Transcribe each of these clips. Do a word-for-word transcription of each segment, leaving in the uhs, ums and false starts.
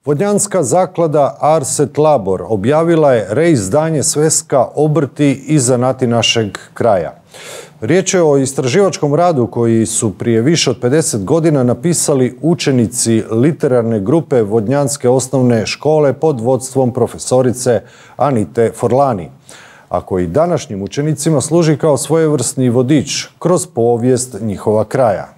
Vodnjanska zaklada Arset Labor objavila je reizdanje sveska Obrti i zanati našeg kraja. Riječ je o istraživačkom radu koji su prije više od pedeset godina napisali učenici literarne grupe Vodnjanske osnovne škole pod vodstvom profesorice Anite Forlani, a koji današnjim učenicima služi kao svojevrsni vodič kroz povijest njihova kraja.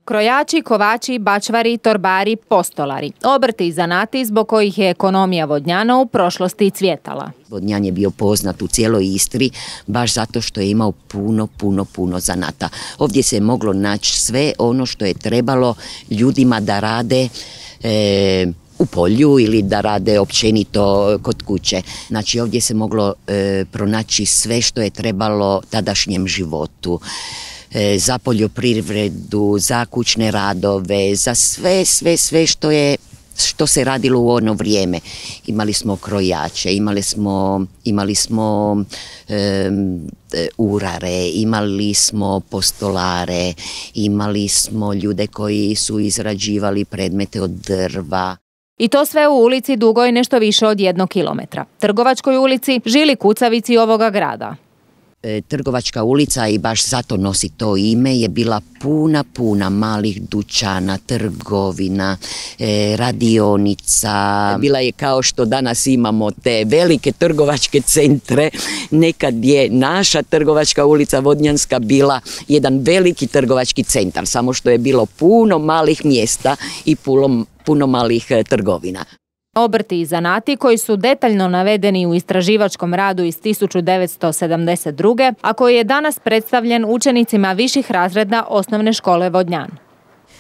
Krojači, kovači, bačvari, torbari, postolari. Obrti i zanati zbog kojih je ekonomija Vodnjana u prošlosti cvjetala. Vodnjan je bio poznat u cijeloj Istri baš zato što je imao puno, puno, puno zanata. Ovdje se je moglo naći sve ono što je trebalo ljudima da rade e, u polju ili da rade općenito kod kuće. Znači ovdje se moglo e, pronaći sve što je trebalo tadašnjem životu. Za poljoprivredu, za kućne radove, za sve, sve, sve što je, što se radilo u ono vrijeme. Imali smo krojače, imali smo, imali smo e, urare, imali smo postolare, imali smo ljude koji su izrađivali predmete od drva. I to sve u ulici dugoj nešto više od jednog kilometra. Trgovačkoj ulici, žili kucavici ovoga grada. Trgovačka ulica, i baš zato nosi to ime, je bila puna, puna malih dućana, trgovina, radionica. Bila je kao što danas imamo te velike trgovačke centre. Nekad je naša trgovačka ulica Vodnjanska bila jedan veliki trgovački centar, samo što je bilo puno malih mjesta i puno, puno malih trgovina. Obrti i zanati koji su detaljno navedeni u istraživačkom radu iz tisuću devetsto sedamdeset druge. a koji je danas predstavljen učenicima viših razreda osnovne škole Vodnjan.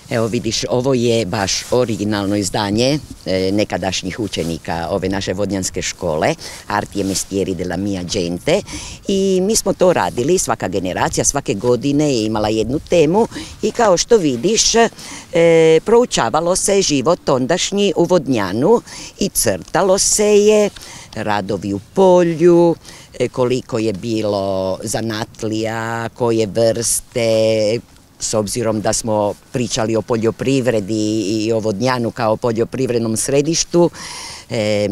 Evo vidiš, ovo je baš originalno izdanje e, nekadašnjih učenika ove naše vodnjanske škole, Arti e mestieri della mia gente, i mi smo to radili, svaka generacija svake godine je imala jednu temu i kao što vidiš e, proučavalo se život ondašnji u Vodnjanu i crtalo se je radovi u polju, koliko je bilo zanatlija, koje vrste. S obzirom da smo pričali o poljoprivredi i o Vodnjanu kao poljoprivrednom središtu, e,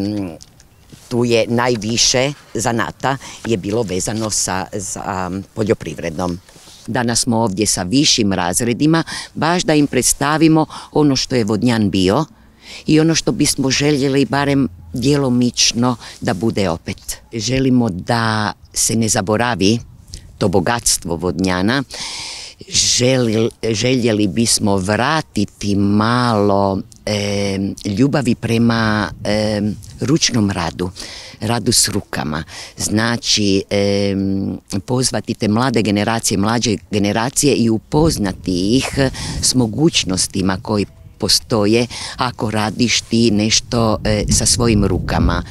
tu je najviše zanata je bilo vezano sa, sa poljoprivrednom. Danas smo ovdje sa višim razredima, baš da im predstavimo ono što je Vodnjan bio i ono što bismo željeli barem djelomično da bude opet. Želimo da se ne zaboravi to bogatstvo Vodnjana. Želi, željeli bismo vratiti malo e, ljubavi prema e, ručnom radu, radu s rukama. Znači e, pozvati te mlade generacije, mlađe generacije i upoznati ih s mogućnostima koji postoje ako radiš ti nešto e, sa svojim rukama.